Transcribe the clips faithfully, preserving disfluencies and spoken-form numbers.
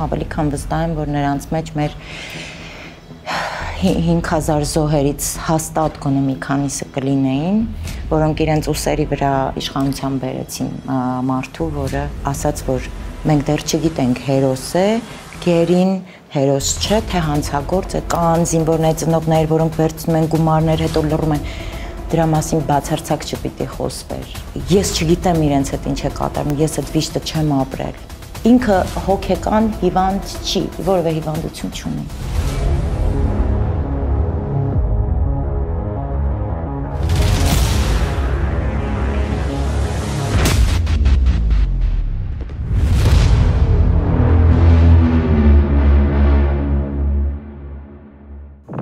ավելի քան վստահ եմ, որ նրանց մեջ մեր հինգ հազար զոհերից հաստատ գոնե մի քանիսը կլինեին, որոնք իրենց ուսերի վրա իշխանության բերեցին մարդու, որը ասաց, որ մենք դեռ չգիտենք հերոս է, գերին հերոս չէ, թե հանցագործ է, կան զինվորներ ծնողներ, որոնք վերցնում են գումարներ, հետո լռում են, դրա մասին բացարձակ չպիտի խոսվեր։ Ես չգիտեմ իրենց հետ ինչ է կատարում, ես այդ վիշտը չեմ ապրել։ Ինքը հոգեկան հիվանդ չի, որևէ հիվանդություն չունի։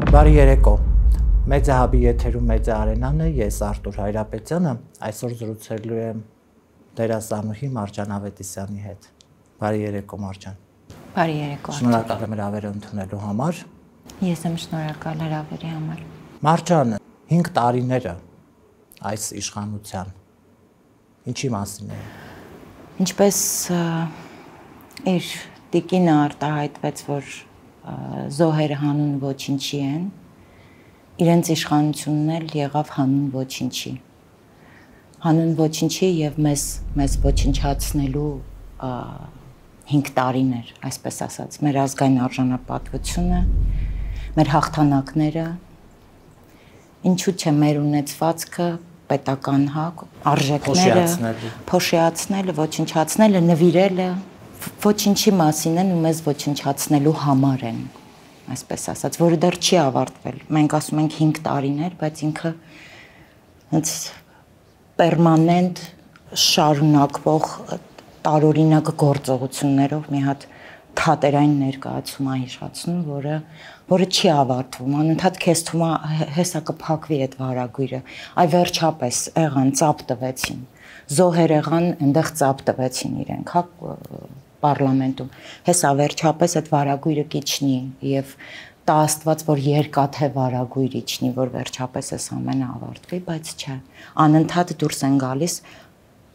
Բարի երեկո, Մեծա հաբի եթերում Մեծա Արենան է, ես Արտուր Հայրապետյանը, այսօր զրուցելու եմ դերասանուհի Մարջան Ավետիսյանի հետ։ Բարի երեկո, Մարջան։ Բարի երեկո։ Շնորհակալ եմ հրավերը ընդունելու համար։ Ես եմ շնորհակալ հրավերի համար։ Մարջան, հինգ տարիները այս իշխանության ինչի մասին է։ Ինչպես իր տիկինը արտահայտվեց, որ զոհերը հանուն ոչինչի են, իրենց իշխանությունն էլ եղավ հանուն ոչինչի։ Հանուն ոչինչի եւ մեզ մեզ ոչնչացնելու հինգ տարիներ, այսպես ասած, մեր ազգային արժանապատվությունը, մեր հաղթանակները, ինչու՞ չէ մեր ունեցվածքը, պետական հակ, արժեքները, փոշիացնելը, ոչնչացնելը, նվիրելը ոչինչի մասին են ու մեզ ոչնչացնելու համար են, այսպես ասած, որը դեռ չի ավարտվել։ Մենք ասում ենք հինգ տարիներ, բայց ինքը հենց պերմանենտ շարունակվող տարօրինակ գործողություններով մի հատ թատերային ներկայացում է հիշացնում, որը որը չի ավարտվում, անընդհատ քեզ թվում է հեսա կփակվի այդ վարագույրը, այ վերջապես եղան, ծափ տվեցին, զոհեր եղան, այնտեղ ծափ տվեցին իրենք, հա պարլամենտում, հեսա վերջապես այդ վարագույրը կիչնի և տա Աստված, որ երկաթե վարագույր իջնի, որ վերջապես այս ամենը ավարտվի, բայց չէ, անընդհատ դուրս են գալիս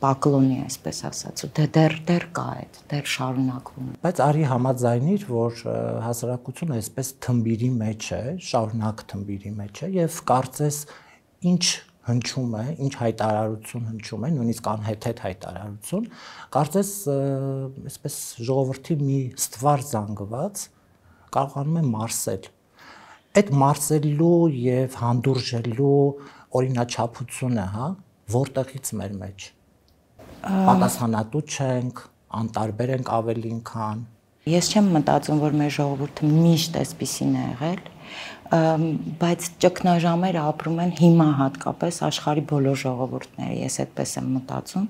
պակլոնի, այսպես ասած, ու դեռ դեռ կա այդ, դեռ շարունակվում։ Բայց արի համաձայնիր, որ հասարակությունը այսպես թմբիրի մեջ է, շարունակ թմբիրի մեջ է և կարծես ինչ հնչում է, ինչ հայտարարություն հնչում է, նույնիսկ անհեթեթ հայտարարություն, կարծես այսպես ժողովրդի մի ստվար զանգված կարողանում է մարսել։ Այդ մարսելու և հանդուրժելու օրինաչափությունը, հա, որտեղից մեր մեջ։ Պատասխանատու չենք, անտարբեր ենք ավելին քան։ Ես չեմ մտածում, որ մեր ժողովուրդը միշտ այսպիսին է եղել, բայց ճգնաժամերը ապրում են հիմա հատկապես աշխարհի բոլոր ժողովուրդները, ես այդպես եմ մտածում,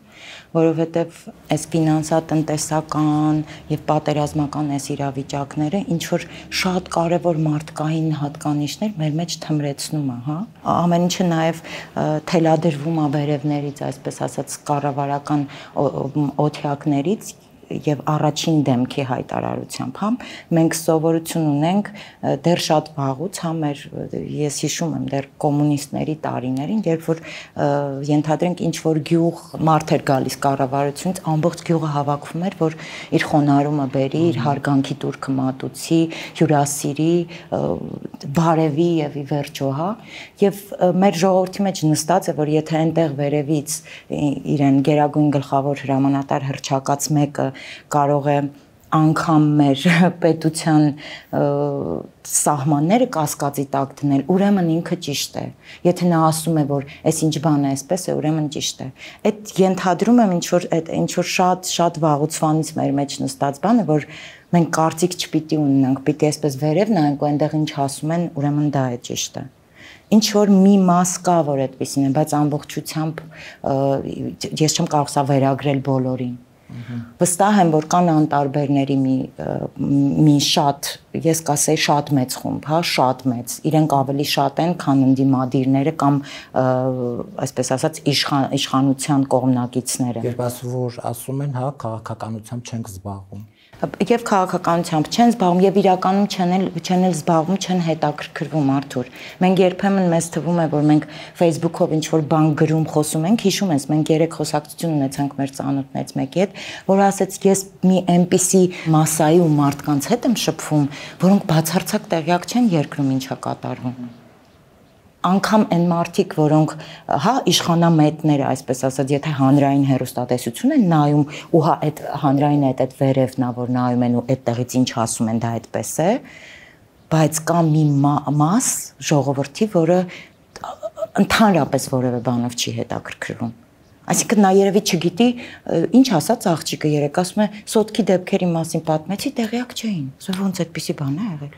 որովհետև այս ֆինանսատնտեսական եւ պատերազմական այս իրավիճակները ինչ որ շատ կարեւոր մարդկային հատկանիշներ մեր մեջ թմրեցնում է, հա։ Ամեն ինչը նաեւ թելադրվում է վերևներից, այսպես ասած, կառավարական օթյակներից եւ առաջին դեմքի հայտարարությամբ, հա, մենք սովորություն ունենք դեռ շատ վաղուց, հա, մեր ես հիշում եմ դեռ կոմունիստների տարիներին, երբ որ ենթադրենք ինչ որ գյուղ մարդ էր գալիս կառավարությունից, ամբողջ գյուղը հավաքվում էր, որ իր խոնարհումը բերի, իր հարգանքի տուրքը մատուցի, հյուրասիրի, բարևի եւ ի վերջո, հա, եւ մեր ժողովրդի մեջ նստած է, որ եթե այնտեղ վերևից իրեն գերագույն գլխավոր հրամանատար հռչակած մեկը կարող է անգամ մեր պետության սահմանները կասկածի տակ դնել, ուրեմն ինքը ճիշտ է։ Եթե նա ասում է, որ այս ինչ բան է, այսպես է, ուրեմն ճիշտ է։ Այդ ենթադրում եմ ինչ որ այդ ինչ որ շատ շատ վաղուցվանից մեր մեջ նստած բան է, որ մենք կարծիք չպիտի ունենանք, պիտի այսպես վերև նայենք ու այնտեղ ինչ ասում են, ուրեմն դա է ճիշտը։ Ինչ որ մի մաս կա, որ այդպեսին է, բայց ամբողջությամբ ես չեմ կարող սա վերագրել բոլորին։ Վստահ եմ, որ կան անտարբերների մի մի շատ, ես կասեի շատ մեծ խումբ, հա, շատ մեծ, իրենք ավելի շատ են, քան ընդդիմադիրները կամ այսպես ասած իշխանության կողմնակիցները։ Երբ ասում որ ասում են, հա, քաղաքականությամբ չենք զբաղվում։ եւ քաղաքականությամբ չեն զբաղվում եւ իրականում չեն էլ չեն էլ զբաղվում, չեն հետաքրքրվում Արթուր։ Մենք երբեմն մեզ թվում է, որ մենք Facebook-ով ինչ որ բան գրում, խոսում ենք, հիշում ես, մենք երեք խոսակցություն ունեցանք մեր ծանոթներից մեկի հետ, որ ասեց, ես մի այնպիսի մասայի ու մարդկանց հետ եմ շփվում, որոնք բացարձակ տեղյակ չեն երկրում ինչա կատարվում։ Անկամ այն մարդիկ, որոնք, հա, իշխանամետները, այսպես ասած, եթե հանրային հեռուստատեսություն են նայում, ու հա այդ հանրային այդ այդ վերևն է, որ նայում են ու այդտեղից ինչ ասում են, դա այդպես է, բայց կա մի մաս ժողովրդի, որը ընդհանրապես որևէ բանով չի հետաքրքրվում։ Այսինքն նա երևի չգիտի, ինչ ասաց աղջիկը երեք, ասում է, սոտքի դեպքերի մասին պատմեցի, տեղյակ չէին։ Սա ոնց այդպիսի բան է եղել։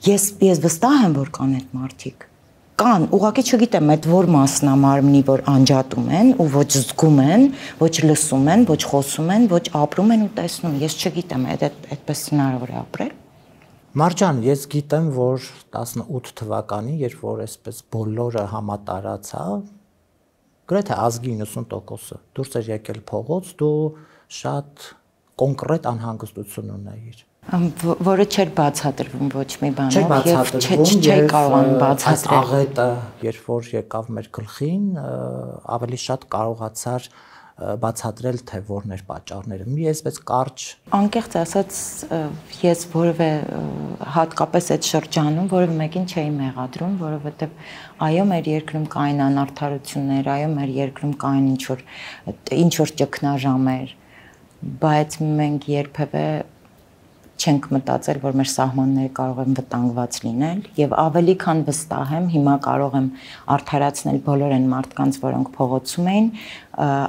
Ես ես վստահ եմ, որ կան այդ մարդիկ։ Կան, ուղղակի չգիտեմ այդ որ մասն է մարմնի, որ անջատում են ու ոչ զգում են, ոչ լսում են, ոչ խոսում են, ոչ ապրում են ու տեսնում։ Ես չգիտեմ, այդ այդպես հնարավոր է ապրել։ Մարջան, ես գիտեմ, որ տասնութ թվականին, երբ որ այսպես բոլորը համատարացա, գրեթե ազգի իննսուն տոկոսը դուրս էր եկել փողոց, դու շատ կոնկրետ անհանգստություն ունեիր։ Որը չէր բացատրվում ոչ մի բանով եւ չէի կարողանում բացատրել։ Աղետը, երբ որ եկավ մեր գլխին, ավելի շատ կարողացար բացատրել, թե որն էր պատճառները։ Մի այսպես կարճ։ Անկեղծ ասած, ես որևէ հատկապես այդ շրջանում որևէ մեկին չէի մեղադրում, որովհետեւ այո, մեր երկրում կային անարդարություններ, այո, մեր երկրում կային ինչ որ ինչ որ ճգնաժամեր, բայց մենք երբևէ չենք մտածել, որ մեր սահմանները կարող են վտանգված լինել եւ ավելի քան վստահ եմ, հիմա կարող եմ արդարացնել բոլոր այն մարդկանց, որոնք փողոցում էին,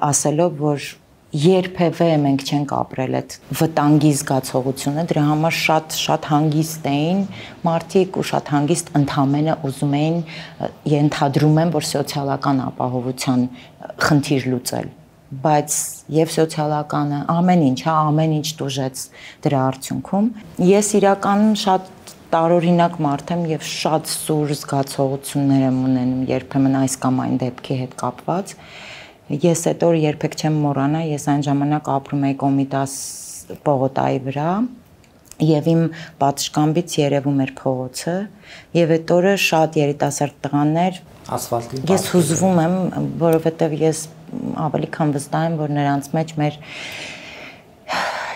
ասելով, որ երբևէ մենք չենք ապրել այդ վտանգի զգացողությունը, դրա համար շատ շատ հանգիստ էին մարդիկ ու շատ հանգիստ ընդհանրապես ուզում էին, ենթադրում եմ, որ սոցիալական ապահովության խնդիր լուծել, բայց եւ սոցիալականը ամեն ինչ, հա, ամեն ինչ դուժեց դրա արդյունքում։ Ես իրականում շատ տարօրինակ մարդ եմ եւ շատ սուր զգացողություններ եմ ունենում երբեմն այս կամ այն դեպքի հետ կապված։ Ես այդ օրը երբեք չեմ մոռանա, ես այն ժամանակ ապրում էի Կոմիտաս պողոտայի վրա եւ իմ պատշգամբից երևում էր փողոցը եւ այդ օրը շատ երիտասարդ տղաներ ասֆալտին ես հուզվում եմ, որովհետեւ ես ավելի քան վստահ եմ, որ նրանց մեջ մեր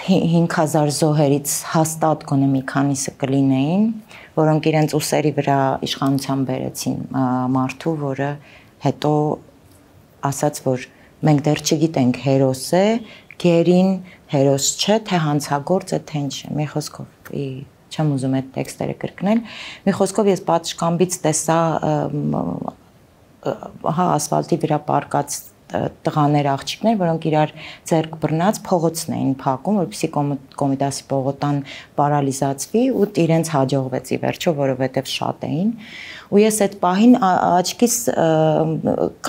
հինգ հազար զոհերից հաստատ գոնե մի քանիսը կլինեին, որոնք իրենց ուսերի վրա իշխանության բերեցին մարդու, որը հետո ասաց, որ մենք դեռ չգիտենք հերոս է, գերին հերոս չէ, թե հանցագործ է, թե ինչ է։ Մի խոսքով, չեմ ուզում այդ տեքստերը կրկնել, մի խոսքով ես պատշգամբից տեսա հա ասֆալտի վրա պարկած տղաներ, աղջիկներ, որոնք իրար ձեռք բռնած փողոցն էին փակում, որպեսզի Կոմիտասի պողոտան պարալիզացվի ու իրենց հաջողվեց ի վերջո, որովհետև շատ էին։ Ու ես այդ պահին աչքիս,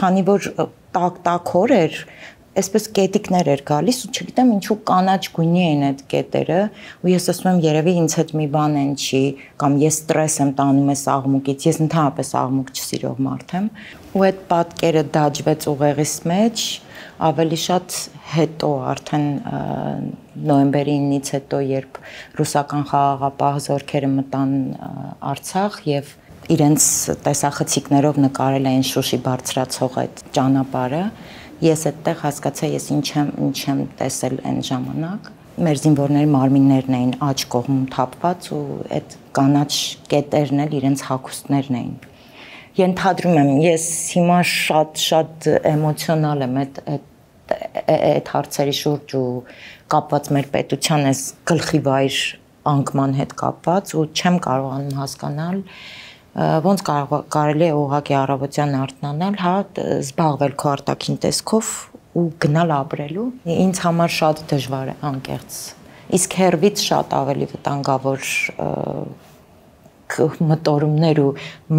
քանի որ տակ-տակ օր էր, այսպես կետիկներ էր գալիս ու չգիտեմ ինչու կանաչ գույնի էին այդ կետերը ու ես ասում եմ երևի ինձ հետ մի բան են չի կամ ես ստրես եմ տանում ես աղմուկից, ես ընդհանրապես աղմուկ չսիրող մարդ եմ ու այդ պատկերը դաջվեց ուղեղիս մեջ ավելի շատ հետո արդեն նոյեմբերի իննից հետո երբ ռուսական խաղաղապահ զորքերը մտան Արցախ եւ իրենց տեսախցիկներով նկարել էին Շուշի բարձրացող այդ ճանապարհը ես այդտեղ հասկացա ես ինչ եմ ինչ եմ տեսել այն ժամանակ մեր զինվորների մարմիններն էին աջ կողմում թափված ու այդ կանաչ կետերն էլ իրենց հագուստներն էին ենթադրում եմ ես հիմա շատ շատ էմոցիոնալ եմ այդ այդ հարցերի շուրջ ու կապված մեր պետության այս գլխի վայր անկման հետ կապված ու չեմ կարողանում հասկանալ ոնց կարելի է ուղղակի առավոտյան արթնանալ, հա, զբաղվել քո արտաքին տեսքով ու գնալ ապրելու։ Ինձ համար շատ դժվար է անկեղծ։ Իսկ հերվից շատ ավելի վտանգավոր մտորումներ ու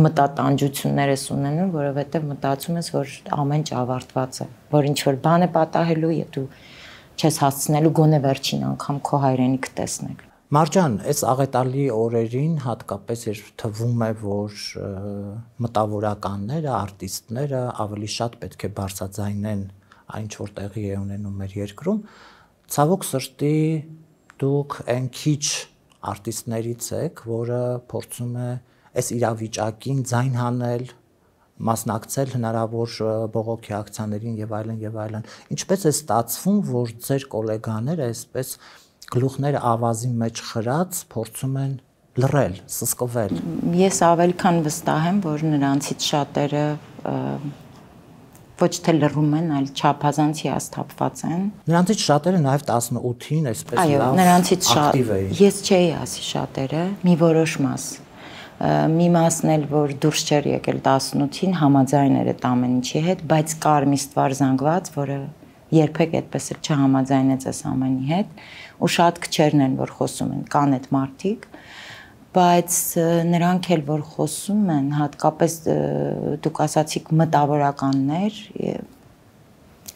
մտատանջություններ ես ունենում, որովհետև մտածում ես, որ ամեն ինչ ավարտված է, որ ինչ որ բան է պատահելու եւ դու չես հասցնելու գոնե վերջին անգամ քո հայրենիքը տեսնել։ Մարջան, այս աղետալի օրերին հատկապես երբ թվում է, որ մտավորականները, արտիստները ավելի շատ պետք է բարձրաձայնեն այն ինչ որ տեղի է ունենում մեր երկրում, ցավոք սրտի դուք այն քիչ արտիստներից եք, որը փորձում է այս իրավիճակին ձայն հանել, մասնակցել հնարավոր բողոքի ակցիաներին եւ այլն եւ այլն։ Ինչպես է ստացվում, որ ձեր գոլեգաները այսպես գլուխները ավազի մեջ խրած փորձում են լռել, սսկվել։ Ես ավելի քան վստահ եմ, որ նրանցից շատերը ոչ թե լռում են, այլ չափազանց հիասթափված են։ Նրանցից շատերը նաև տասնութին այսպես լավ այո, նրանցից ակտիվ էին։ Ես չէի ասի շատերը, մի որոշ մաս։ Մի մասն էլ, որ դուրս չէր եկել տասնութին, համաձայն էր այդ ամեն ինչի հետ, բայց կար մի ստվար զանգված, որը երբեք այդպես էլ չհամաձայնեց այս ամենի հետ, ու շատ քչերն են, որ խոսում են, կան այդ մարդիկ, բայց նրանք էլ որ խոսում են, հատկապես դուք ասացիք մտավորականներ,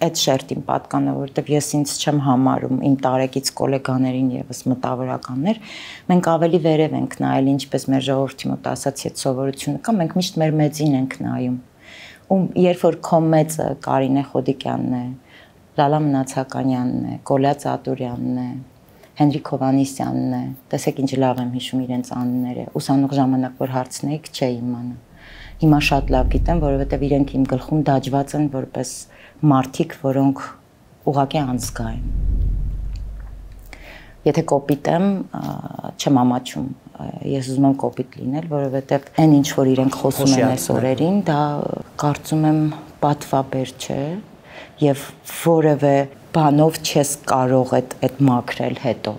այդ շերտին պատկանը, որովհետև ես ինձ չեմ համարում իմ տարեկից գոլեգաներին եւս մտավորականներ, մենք ավելի վերև ենք նայել, ինչպես մեր ժողովրդի մոտ ասացի, այդ սովորությունը կա, մենք միշտ մեր մեծին ենք նայում։ Ու երբ որ քո մեծը Կարինե Խոդիկյանն է, Լալա Մնացականյանն է, Կոլյա Ծատուրյանն է, Հենրիկ Հովանեսյանն է, տեսեք ինչ լավ եմ հիշում իրենց անունները, ուսանող ժամանակ որ հարցնեիք չէի իմանում։ Հիմա շատ լավ գիտեմ, որովհետև իրենք իմ գլխում դաջված են որպես մարդիկ, որոնք ուղղակի անզգա են։ Եթե կոպիտ եմ, չեմ ամաչում, ես ուզում եմ կոպիտ լինել, որովհետև այն ինչ որ իրենք խոսում են այս օրերին, դա կարծում եմ պատվաբեր չէ եւ որևէ բանով չես կարող այդ այդ մաքրել հետո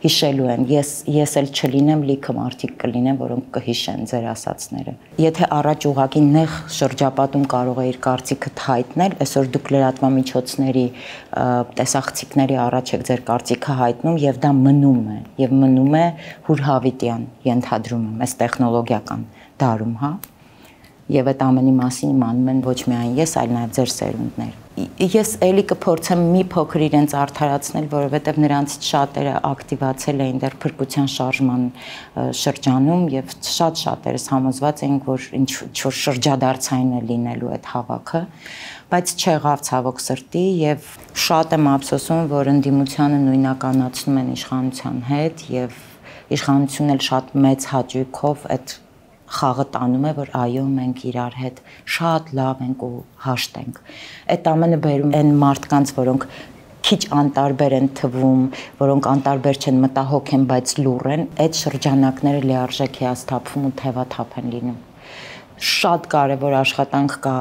հիշելու են ես ես էլ չլինեմ լիքը մարդիկ կլինեն որոնք կհիշեն ձեր ասածները եթե առաջ ուղակի նեղ շրջապատում կարող է իր կարծիքը հայտնել այսօր դուք լրատվամիջոցների տեսախցիկների առաջ եք ձեր կարծիքը հայտնում եւ դա մնում է եւ մնում է հուրհավիտյան ենթադրում եմ այս տեխնոլոգիական դարում հա եւ այդ ամենի մասին իմանում են ոչ միայն ես այլ նաեւ ձեր սերունդներ Ես էլի կփորձեմ մի փոքր իրենց արդարացնել, որովհետև նրանցից շատերը ակտիվացել էին դեռ փրկության շարժման շրջանում եւ շատ շատերս համոզված էինք, որ ինչ-որ շրջադարձային է լինելու այդ հավաքը, բայց չեղավ ցավոք սրտի եւ շատ եմ ափսոսում, որ ընդդիմությանը նույնականացնում են իշխանության հետ եւ իշխանությունն էլ շատ մեծ հաճույքով այդ խաղը տանում է, որ այո, մենք իրար հետ շատ լավ ենք ու հաշտ ենք։ Այդ ամենը բերում են մարդկանց, որոնք քիչ անտարբեր են թվում, որոնք անտարբեր չեն, մտահոգ են, բայց լուռ են, այդ շրջանակները լիարժեք հիասթափվում ու թևաթափ են լինում։ Շատ կարևոր աշխատանք կա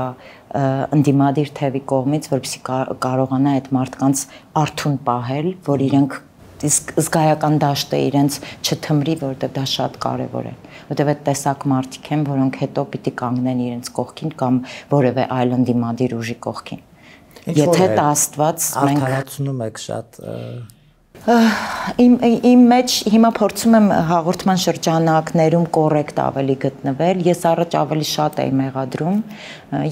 ընդդիմադիր թևի կողմից, որպեսզի կարողանա այդ մարդկանց արթուն պահել, որ իրենք իսկ զգայական դաշտը իրենց չթմրի, որովհետև դա շատ կարևոր է, որովհետև այդ տեսակ մարդիկ են, որոնք հետո պիտի կանգնեն իրենց կողքին կամ որևէ այլ ընդդիմադիր ուժի կողքին։ Եթե դա Աստված մենք արդարացնում եք շատ Իմ իմ մեջ հիմա փորձում եմ հաղորդման շրջանակներում կոռեկտ ավելի գտնվել։ Ես առաջ ավելի շատ էի մեղադրում։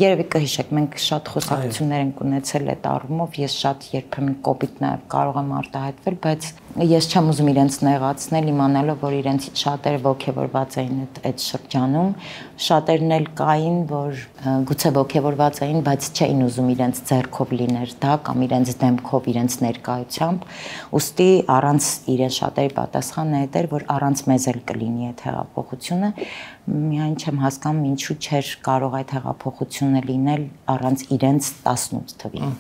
Երևի կհիշեք, մենք շատ խոսակցություններ ենք ունեցել այդ առումով, ես շատ երբեմն կոպիտ նաև կարող եմ արտահայտվել, բայց ես չեմ ուզում իրենց նեղացնել, իմանալով, որ իրենցից շատերը ողջևորված էին այդ այդ շրջանում, շատերն էլ կային, որ գուցե ողջևորված էին, բայց չէին ուզում իրենց ձեռքով լիներ դա կամ իրենց դեմքով, իրենց ներկայությամբ, ուստի առանց իրեն շատերի պատասխանը այդ էր, որ առանց մեզ էլ կլինի այդ հեղափոխությունը, միայն չեմ հասկանում ինչու չէր կարող այդ հեղափոխությունը լինել առանց իրենց տասնութ թվի։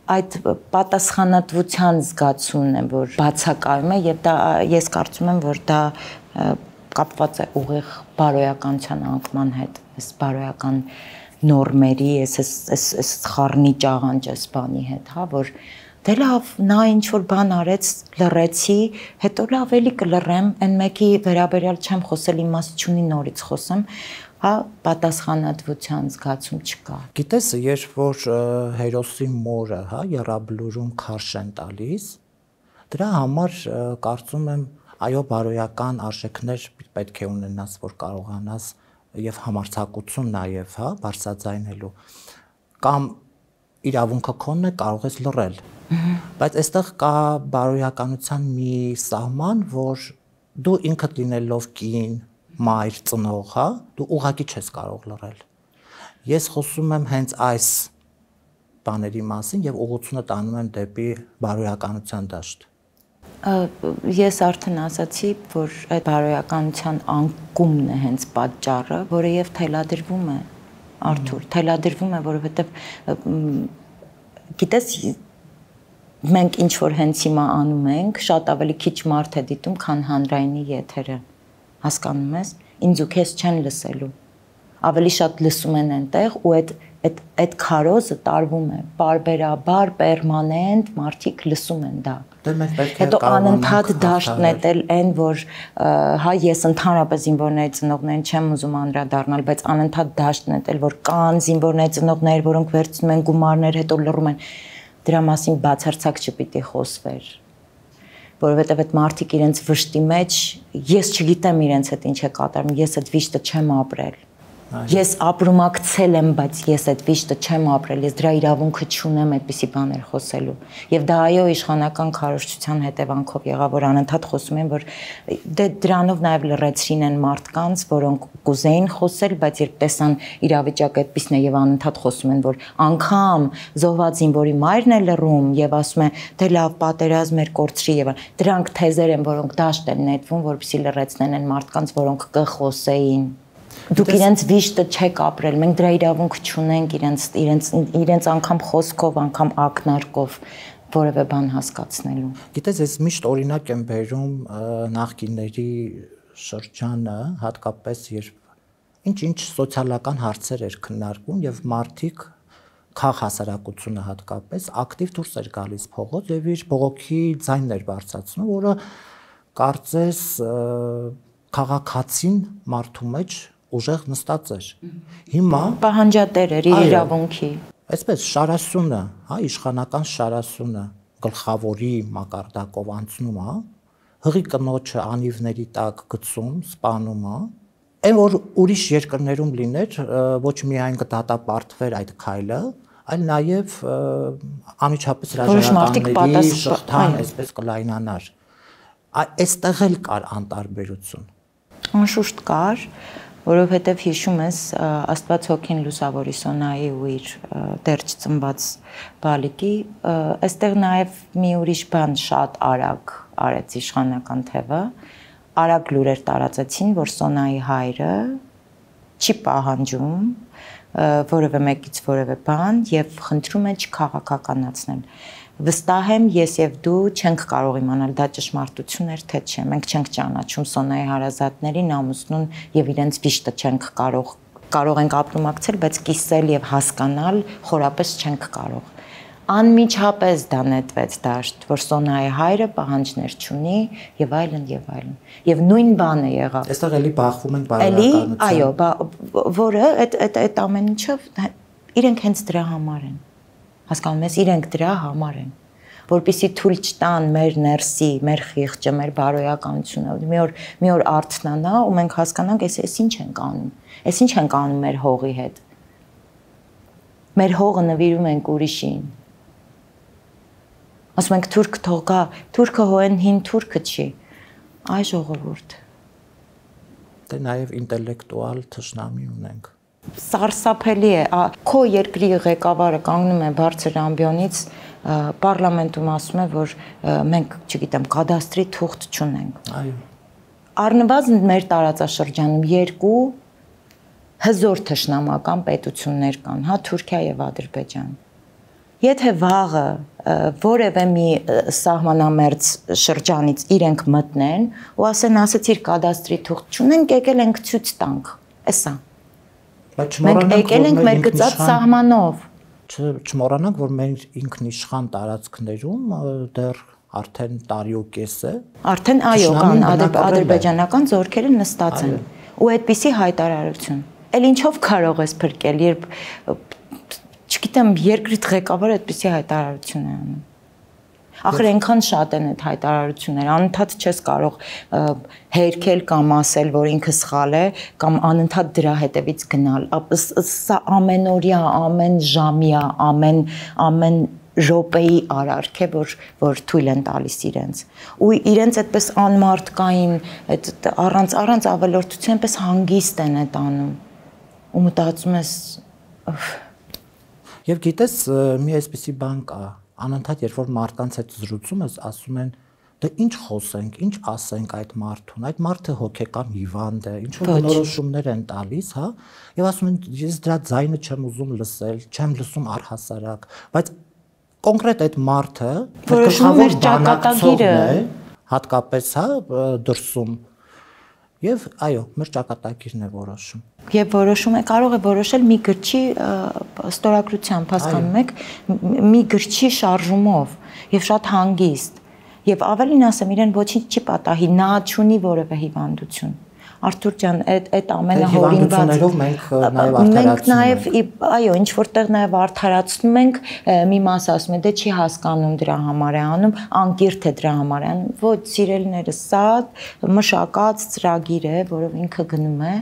Այդ պատասխանատվության զգացումն է, որ բացակայում է եւ դա ես կարծում եմ, որ դա կապված է ուղիղ բարոյականության անկման հետ, այս բարոյական նորմերի, այս այս այս խառնի ճաղանճ այս բանի հետ, հա, որ դե լավ, նա ինչ որ բան արեց, լռեցի, հետո լավ էլի կլռեմ, այն մեկի վերաբերյալ չեմ խոսել, իմաստ չունի նորից խոսեմ, հա, պատասխանատվության զգացում չկա։ Գիտես, երբ որ հերոսի մորը, հա, եռաբլուրում քարշ են տալիս, դրա համար կարծում եմ, այո, բարոյական արժեքներ պետք է ունենաս, որ կարողանաս եւ համարձակություն նաեւ, հա, բարձրաձայնելու կամ իրավունքը քոնն է, կարող ես լռել։ Բայց այստեղ կա բարոյականության մի սահման, որ դու ինքդ լինելով կին, մայր, ծնող, հա, դու ուղղակի չես կարող լռել։ Ես խոսում եմ հենց այս բաների մասին եւ ուղղությունը տանում եմ դեպի բարոյականության դաշտ։ Ես արդեն ասացի, որ այդ բարոյականության անկումն է հենց պատճառը, որը եւ թելադրվում է, Արթուր, թելադրվում է, որովհետեւ գիտես մենք ինչ որ հենց հիմա անում ենք, շատ ավելի քիչ մարդ է դիտում, քան հանրայինի եթերը, հասկանում ես, ինձ ու քեզ չեն լսելու, ավելի շատ լսում են այնտեղ ու այդ այդ այդ քարոզը տարվում է, բարբերաբար, պերմանենտ մարդիկ լսում են դա։ Հետո անընդհատ դաշտ նետել այն, որ հա ես ընդհանրապես զինվորների ծնողներին չեմ ուզում անդրադառնալ, բայց անընդհատ դաշտ նետել, որ կան զինվորների ծնողներ, որոնք վերցնում են գումարներ, հետո լռում են, դրա մասին բացարձակ չպիտի խոսվեր, որովհետև այդ մարդիկ իրենց վշտի մեջ, ես չգիտեմ իրենց հետ ինչ է կատարում, ես այդ վիշտը չեմ ապրել։ Ես ապրումակցել եմ, բայց ես այդ վիշտը չեմ ապրել, ես դրա իրավունքը չունեմ այդպիսի բաներ խոսելու։ Եվ դա այո իշխանական քարոզչության հետևանքով եղավ, որ անընդհատ խոսում են, որ դե դրանով նաև լրացրին են մարդկանց, որոնք կուզեին խոսել, բայց երբ տեսան իրավիճակը այդպիսն է եւ անընդհատ խոսում են, որ անգամ զոհված զինվորի մայրն է լռում եւ ասում է դե լավ պատերազմ էր կորցրի եւ դրանք թեզեր են, որոնք դաշտ են նետվում, որպեսզի լրացնեն են մարդկանց, որոնք կխոսեին։ Դուք իրենց վիշտը չեք ապրել, մենք դրա իրավունք չունենք իրենց իրենց իրենց անգամ խոսքով, անգամ ակնարկով որևէ բան հասկացնելու։ Գիտես, ես միշտ օրինակ եմ բերում նախկինների շրջանը, հատկապես երբ ինչ-ինչ սոցիալական հարցեր էր քննարկվում եւ մարդիկ քաղաքասարակությունը հատկապես ակտիվ դուրս էր գալիս փողոց եւ իր բողոքի ձայնն էր բարձրացնում, որը կարծես քաղաքացին մարդու մեջ ուժեղ նստած էր։ Հիմա պահանջատեր էր իր իրավունքի։ Այսպես շարասյունը, հա, իշխանական շարասյունը գլխավորի մակարդակով անցնում է, հղի կնոջը անիվների տակ գցում, սպանում է, այն որ ուրիշ երկրներում լիներ, ոչ միայն կդատապարտվեր այդ քայլը, այլ նաև անմիջապես հրաժարականների շղթան այսպես կլայնանար։ Այստեղ էլ կար անտարբերություն։ Անշուշտ կար, որովհետև հիշում ես Աստված հոգին լուսավորի Սոնայի ու իր դեռ չծնված բալիկի, այստեղ նաև մի ուրիշ բան շատ արագ արեց իշխանական թևը, արագ լուրեր տարածեցին, որ Սոնայի հայրը չի պահանջում որևէ մեկից որևէ բան եւ խնդրում է չքաղաքականացնել։ Վստահ եմ, ես եւ դու չենք կարող իմանալ դա ճշմարտություն էր թե չէ։ Մենք չենք ճանաչում Սոնայի հարազատներին, ամուսնուն եւ իրենց վիշտը չենք կարող կարող ենք ապրումակցել, բայց կիսել եւ հասկանալ խորապես չենք կարող։ Անմիջապես դա նետվեց դաշտ, որ Սոնայի հայրը պահանջներ չունի եւ այլն եւ այլն։ Եվ նույն բանը եղավ։ Այստեղ էլի բախվում ենք բարոյականության։ Այո, որը այդ այդ այդ ամեն ինչը իրենք հենց դրա համար են։ Հասկանում ես, իրենք դրա համար են, որպեսզի թույլ չտան մեր ներսի, մեր խիղճը, մեր բարոյականությունը, մի օր մի օր արթնանա ու մենք հասկանանք, էս էս ինչ ենք անում, էս ինչ ենք անում մեր հողի հետ։ Մեր հողը նվիրում ենք ուրիշին։ Ասում ենք թուրք թող գա, թուրքը հոեն հին թուրքը չի։ Այ ժողովուրդ։ Դե նաև ինտելեկտուալ թշնամի ունենք։ Սարսափելի է, քո երկրի ղեկավարը կանգնում է բարձր ամբիոնից պարլամենտում ասում է, որ մենք, չգիտեմ, կադաստրի թուղթ չունենք։ Այո։ Առնվազն մեր տարածաշրջանում երկու հզոր թշնամական պետություններ կան, հա, Թուրքիա եւ Ադրբեջան։ Եթե վաղը որևէ մի սահմանամերձ շրջանից իրենք մտնեն ու ասեն, ասեցիր կադաստրի թուղթ չունենք, եկել ենք ցույց տանք, էսա։ Մենք եկել ենք մեր գծած սահմանով։ Չմոռանանք, որ մեր ինքնիշխան տարածքներում դեռ արդեն տարի ու կես է։ Արդեն այո, կան ադրբեջանական զորքերը նստած են։ Ու այդպիսի հայտարարություն։ Էլ ինչով կարող ես փրկել, երբ չգիտեմ, երկրիդ ղեկավարը այդպիսի հայտարարություն է անում։ Ախր այնքան շատ են այդ հայտարարությունները, անընդհատ չես կարող հերքել կամ ասել, որ ինքը սխալ է, կամ անընդհատ դրա հետևից գնալ։ Սա ամենօրյա, ամեն ժամյա, ամեն ամեն րոպեի արարք է, որ որ թույլ են տալիս իրենց։ Ու իրենց այդպես անմարդկային, այդ առանց առանց ավելորդության պես հանգիստ են այդ անում։ Ու մտածում ես Եվ գիտես, մի այսպիսի բան կա, անընդհատ երբ որ մարդկանց հետ զրուցում ես, ասում են, Դե ինչ խոսենք, ինչ ասենք այդ մարդուն, այդ մարդը հոգեկան հիվանդ է, ինչ որ բնորոշումներ են տալիս, հա, եւ ասում են ես դրա ձայնը չեմ ուզում լսել, չեմ լսում առհասարակ, բայց կոնկրետ այդ մարդը որոշում ճակատագիրը է, հատկապես հա դրսում եւ այո, մեր ճակատագիրն է որոշում։ Եվ որոշում է կարող է որոշել մի գրչի ստորագրությամբ, հասկանում եք, մի գրչի շարժումով եւ շատ հանգիստ։ Եվ ավելին ասեմ, իրեն ոչինչ չի պատահի, նա չունի որևէ հիվանդություն։ Արթուր ջան, այդ այդ ամենը հորինվածներով մենք նաեւ արդարացնում ենք։ Մենք նաեւ, այո, ինչ որտեղ նաեւ արդարացնում ենք, մի մասը ասում է, դե չի հասկանում դրա համար է անում, անկիրթ է դրա համար է անում։ Ոչ, սիրելիները, սա մշակած ծրագիր է, որով ինքը գնում է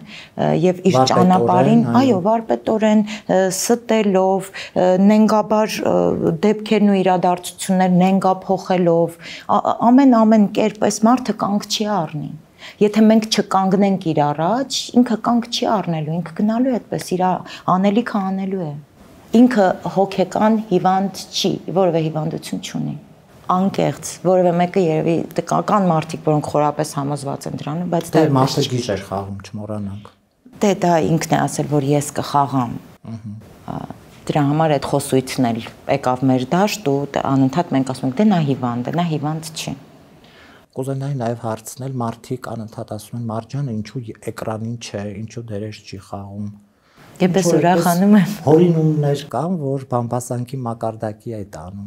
եւ իր ճանապարհին, այո, վարպետորեն ստելով, նենգաբար դեպքերն ու իրադարձություններ նենգափոխելով, ամեն ամեն կերպ այս մարդը կանգ չի առնի։ Եթե մենք չկանգնենք իր առաջ, ինքը կանգ չի առնելու, ինքը գնալու է այդպես, իր անելիքը անելու է։ Ինքը հոգեկան հիվանդ չի, որևէ հիվանդություն չունի։ Անկեղծ, որևէ մեկը երևի կան մարդիկ, որոնք խորապես համոզված են դրանում, բայց դա մարդը գիժեր խաղում, չմոռանանք։ Դե դա ինքն է ասել, որ ես կխաղամ։ Դրա համար այդ խոսույցն էլ եկավ մեր դաշտ ու անընդհատ մենք ասում ենք, դե նա հիվանդ է, նա հիվանդ չի։ Կուզենայի նաև հարցնել, մարդիկ անընդհատ ասում են Մարջանը ինչու էկրանին չէ, ինչու դերեր չի խաղում։ Ես ուրախանում եմ։ Հորինումներ կան, որ բամբասանքի մակարդակի է տանում։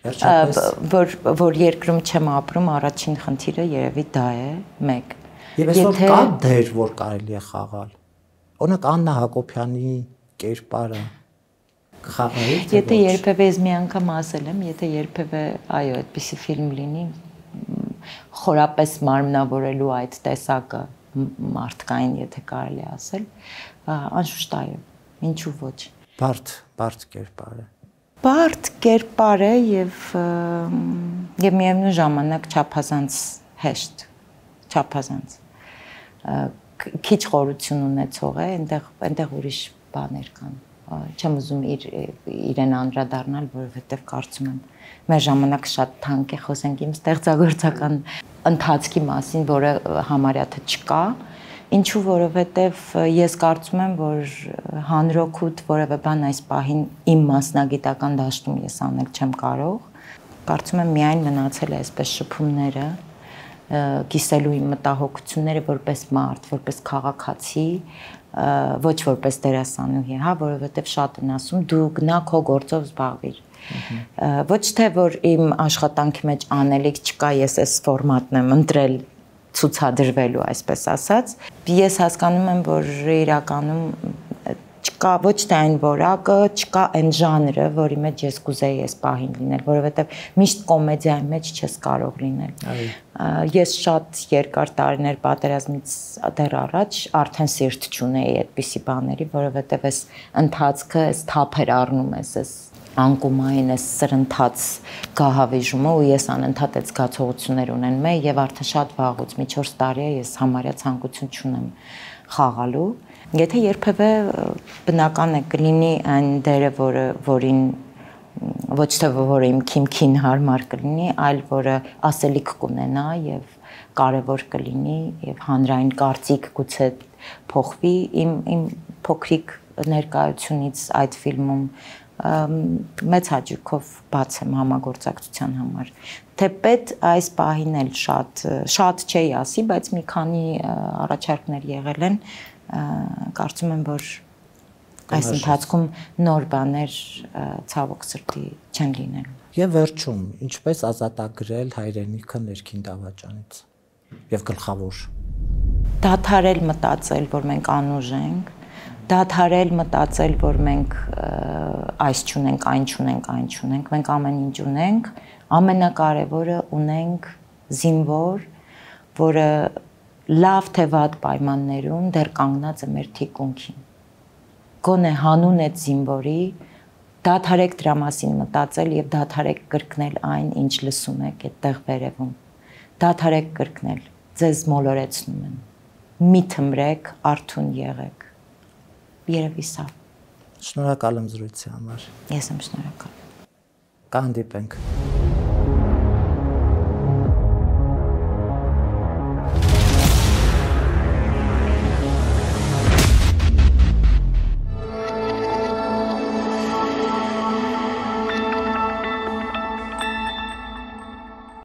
Վերջապես որ որ երկրում չեմ ապրում, առաջին խնդիրը երևի դա է, մեկ։ Եվ այսօր կա դեր, որ կարելի է խաղալ։ Օրինակ Աննա Հակոբյանի կերպարը խաղայի։ Եթե երբևէ ես մի անգամ ասել եմ, եթե երբևէ, այո, այդպիսի ֆիլմ լինի, խորապես մարմնավորելու այդ տեսակը մարդկային, եթե կարելի ասել, անշուշտ այո, ինչու ոչ։ Բարդ, բարդ կերպար է։ Բարդ կերպար է եւ եւ միևնույն ժամանակ չափազանց հեշտ, չափազանց։ Քիչ խորություն ունեցող է, այնտեղ այնտեղ ուրիշ բաներ կան։ Չեմ ուզում իր իրեն անդրադառնալ, որովհետեւ կարծում եմ մեր ժամանակը շատ թանկ է, խոսենք իմ ստեղծագործական ընթացքի մասին, որը համարյա թե չկա, ինչու որովհետև ես կարծում եմ, որ հանրօգուտ որևէ բան այս պահին իմ մասնագիտական դաշտում ես անել չեմ կարող, կարծում եմ միայն մնացել է այսպես շփումները, կիսելու իմ մտահոգությունները որպես մարդ, որպես քաղաքացի, ոչ որպես դերասանուհի, հա, որովհետև շատ են ասում դու գնա քո գործով զբաղվիր։ Ոչ թե որ իմ աշխատանքի մեջ անելիք չկա, ես այս ֆորմատն եմ ընտրել ցուցադրվելու, այսպես ասած, ես հասկանում եմ, որ իրականում չկա ոչ թե այն որակը, չկա այն ժանրը, որի մեջ ես կուզեի այս պահին լինել, որովհետև միշտ կոմեդիայի մեջ չես կարող լինել։ Ես շատ երկար տարիներ պատերազմից դեռ առաջ արդեն սիրտ չունեի այդպիսի բաների, որովհետև այս ընթացքը, այս թափեր առնում ես, այս անկումային այս սրընթաց գահավիժումը ու ես անընդհատ այդ զգացողություններ ունենում եմ եւ արդեն շատ վաղուց մի չորս տարի է ես համարյա ցանկություն չունեմ խաղալու։ Եթե երբևէ բնական է կլինի այն դերը, որը որին ոչ թե որը իմ քիմքին հարմար կլինի, այլ որը ասելիք կունենա եւ կարեւոր կլինի եւ հանրային կարծիք գուցե փոխվի իմ իմ փոքրիկ ներկայությունից այդ ֆիլմում մեծ հաճույքով բաց եմ համագործակցության համար։ Թեպետ այս պահին էլ շատ շատ չէի ասի, բայց մի քանի առաջարկներ եղել են, կարծում եմ, որ այս ընթացքում նոր բաներ ցավոք սրտի չեն լինելու։ Եվ վերջում, ինչպես ազատագրել հայրենիքը ներքին դավաճանից եւ գլխավոր։ Դադարել մտածել, որ մենք անուժ ենք, դադարել մտածել, որ մենք այս չունենք, այն չունենք, այն չունենք, մենք ամեն ինչ ունենք, ամենակարևորը ունենք զինվոր, որը լավ թե վատ պայմաններում դեռ կանգնած է մեր թիկունքին։ Գոնե հանուն այդ զինվորի դադարեք դրա մասին մտածել եւ դադարեք կրկնել այն, ինչ լսում եք այդտեղ վերևում։ Դադարեք կրկնել, ձեզ մոլորեցնում են։ Մի թմրեք, արթուն եղեք։ Երևի սա։ Շնորհակալ եմ զրույցի համար։ Ես եմ շնորհակալ։ Կհանդիպենք։